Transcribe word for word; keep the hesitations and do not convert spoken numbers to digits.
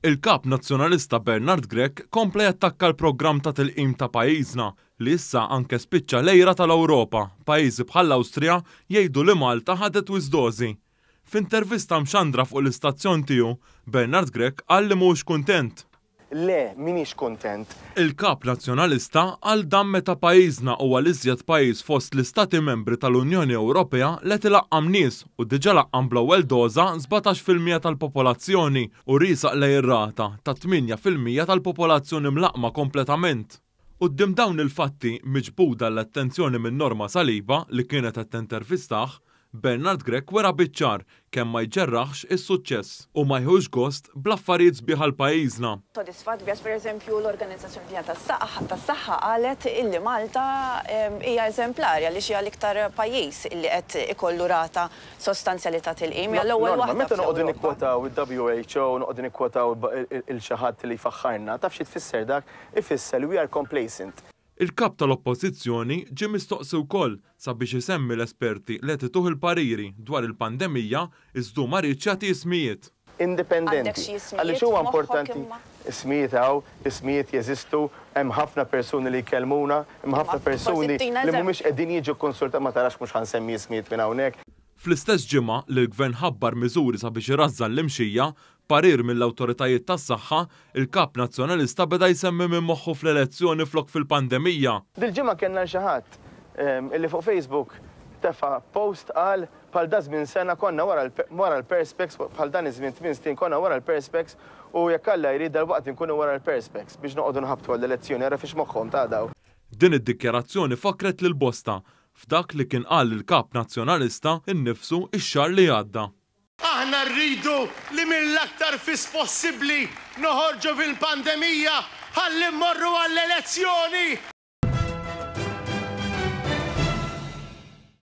Il-Kap Nazzjonalista Bernard Grech kompla jattakka l-programm ta' tilqim ta' pajjiżna li issa anke spiċċa l-għira tal-Ewropa. Pajjiżi bħall-Awstrija jgħidu li Malta ħadet wisq dożi. F'intervista mxandra fuq l-istazzjon tiegħu, Bernard Grech qal li mhux kuntent. Le, m'iniex kuntent. Il-Kap Nazzjonalista qal dan meta pajjiżna huwa l-iżjed pajjiż fost l-Istati Membri tal-Unjoni Ewropea li qed ilaqqam nies u diġà laqqam bl-ewwel doża sbatax fil-mija tal-popolazzjoni u riesaq lejn ir-rata ta' tmienja fil-mija tal-popolazzjoni mlaqqma kompletament. Quddiem dawn il-fatti miġbuda l-attenzjoni minn Norma Saliba li kienet qed tintervistah, Bernard Grech wera biċ-ċar kemm ma jġerraħx is-suċċess u ma jħux gost bl-affarijiet sbieħ għal pajjiżna. Sodisfatt biss, pereżempju, l-Organizzazzjoni Dinjija tas-Saħħa qalet illi Malta hija eżemplari għaliex hija l-iktar pajjiż illi qed ikollu rata sostanzjali ta' tilqim. Hija l-ewwel waħda. Meta noqogħdu nikkwotaw il-W H O, noqogħdu nikkwotaw lil xi ħadd li jfaħħarna, taf xi tfisser dak? Ifisser li we are complacent. Il-kap tal-Oppożizzjoni ġie mistoqsi wkoll sabiex isemmi l-esperti li qed ituh il-pariri dwar il-pandemija, iżda ma riedx jagħti ismijiet. Indipendenti. Għaliex huwa importanti ismijiet hawn, ismijiet jeżistu, hemm ħafna persuni li jkellmuna, hemm ħafna persuni li mhumiex qegħdin jiġu konsulta, ma tarax, mhux ħa nsemmi ismijiet minn hawnhekk. Fl-istess ġimgħa li l-Gvern ħabbar miżuri sabiex irażżan l-imxija, parir mill-awtoritajiet tas-saħħa, il-Kap Nazzjonalista beda jsemmi minn moħħu fl-elezzjoni flok fil-pandemija. Dil-ġimgħa kellna xi ħadd illi fuq Facebook tefa' post, qal bħal da żmien sena konna wara l-Perspex, bħal dan iż-żmien tmien snin konna wara l-Perspex u jekk Alla jrid dal-waqt inkunu wara l-Perspex biex noqogħdu nħabtu għall-elezzjoni, ara fiex moħħhom ta' daw. Din id-dikjarazzjoni fakret lil bosta f'dak li kien qal il-Kap Nazzjonalista innifsu ix-xahar li għadda. Aħna rridu li mill-aktar fis possibbli noħorġu fil-pandemija ħalli mmorru għall-elezzjoni.